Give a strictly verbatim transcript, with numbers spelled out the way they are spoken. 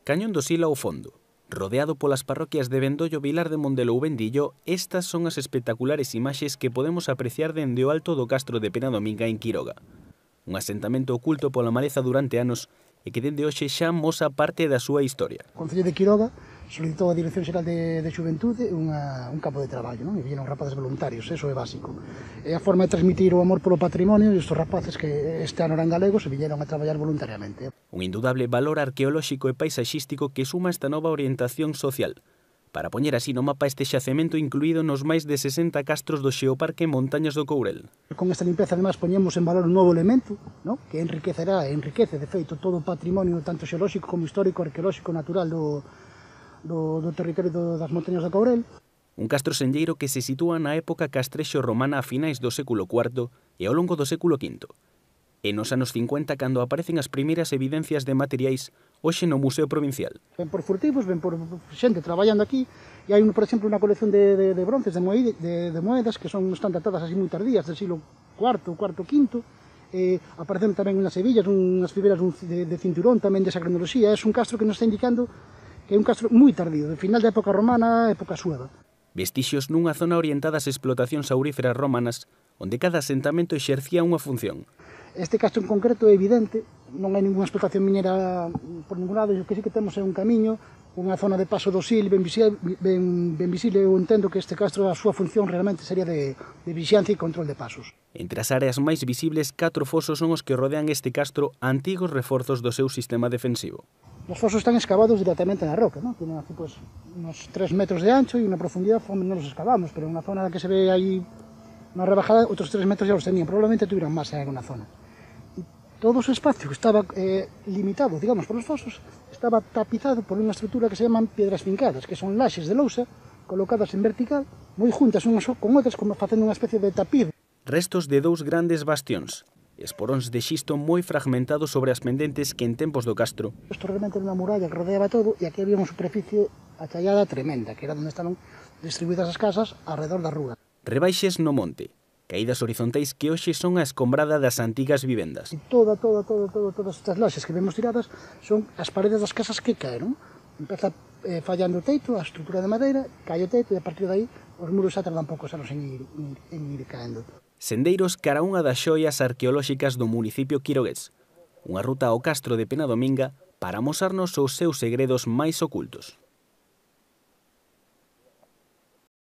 Cañón do Sila ao fondo. Rodeado polas parroquias de Vendollo, Vilar de Mondelo ou Vendillo, estas son as espectaculares imaxes que podemos apreciar dende o alto do castro de Penadominga en Quiroga. Un asentamento oculto pola maleza durante anos e que dende hoxe xa mosa parte da súa historia. O Concello de Quiroga solicitou a Dirección Xeral de, de Xuventude unha, un campo de traballo, non? E vieron rapaces voluntarios, eso é básico. É a forma de transmitir o amor polo patrimonio e estes rapaces que este ano eran galegos e viñeron a traballar voluntariamente. Un indudable valor arqueolóxico e paisaxístico que suma esta nova orientación social, para poñer así no mapa este xacemento incluído nos máis de sesenta castros do Xeoparque Montañas do Courel. Con esta limpeza, además, poñemos en valor un novo elemento, ¿no? Que enriquecerá e enriquece, de feito, todo o patrimonio tanto xeolóxico como histórico, arqueolóxico, natural do, do, do territorio do, das Montañas do Courel. Un castro senlleiro que se sitúa na época castrexo-romana a finais do século cuarto e ao longo do século quinto. E nos anos cincuenta, cando aparecen as primeiras evidencias de materiais, hoxe no Museo Provincial. Ven por furtivos, ven por xente traballando aquí, e hai, por exemplo, unha colección de, de, de bronces, de, moed, de, de moedas, que son están datadas así moi tardías, del siglo cuarto, cuarto, quinto, e aparecen tamén unhas hebillas, unhas fibras de, de cinturón, tamén desa cronoloxía. É un castro que nos está indicando que é un castro moi tardío, de final da época romana, época sueva. Vestixios nunha zona orientada ás explotacións auríferas romanas, onde cada asentamento exercía unha función. Este castro en concreto é evidente, non hai ninguna explotación minera por ningún lado, e o que sí que temos é un camiño, unha zona de paso do Sil ben visible, ben, ben visible. Eu entendo que este castro, a súa función realmente sería de, de vixiancia e control de pasos. Entre as áreas máis visibles, catro fosos son os que rodean este castro, antigos reforzos do seu sistema defensivo. Os fosos están excavados directamente na roca, ¿no? Tienen aquí, pues, unos tres metros de ancho e unha profundidade, non los excavamos, pero unha zona que se ve aí na rebajada, outros tres metros ya los tenían, probablemente tuvieran máis en alguna zona. Todo o espacio que estaba eh, limitado, digamos, por os fosos, estaba tapizado por unha estrutura que se llaman piedras fincadas, que son laxes de lousa colocadas en vertical, moi juntas unhas con outras, como facendo unha especie de tapiz. Restos de dous grandes bastións, esporóns de xisto moi fragmentados sobre as pendentes que en tempos do castro. Isto realmente era unha muralla que rodeaba todo, e aquí había unha superficie achallada tremenda, que era onde estaban distribuídas as casas alrededor da rúa. Rebaixes no monte, caídas horizontais que hoxe son a escombrada das antigas vivendas. E toda, toda, toda, toda, todas estas laxes que vemos tiradas son as paredes das casas que caeron. Empeza eh, fallando o teito, a estrutura de madeira, cae o teito, e a partir de aí os muros xa tardan poucos anos en ir, en, en ir caendo. Sendeiros cara a unha das xoias arqueolóxicas do municipio quirogués. Unha ruta ao castro de Penadominga para amosarnos os seus segredos máis ocultos.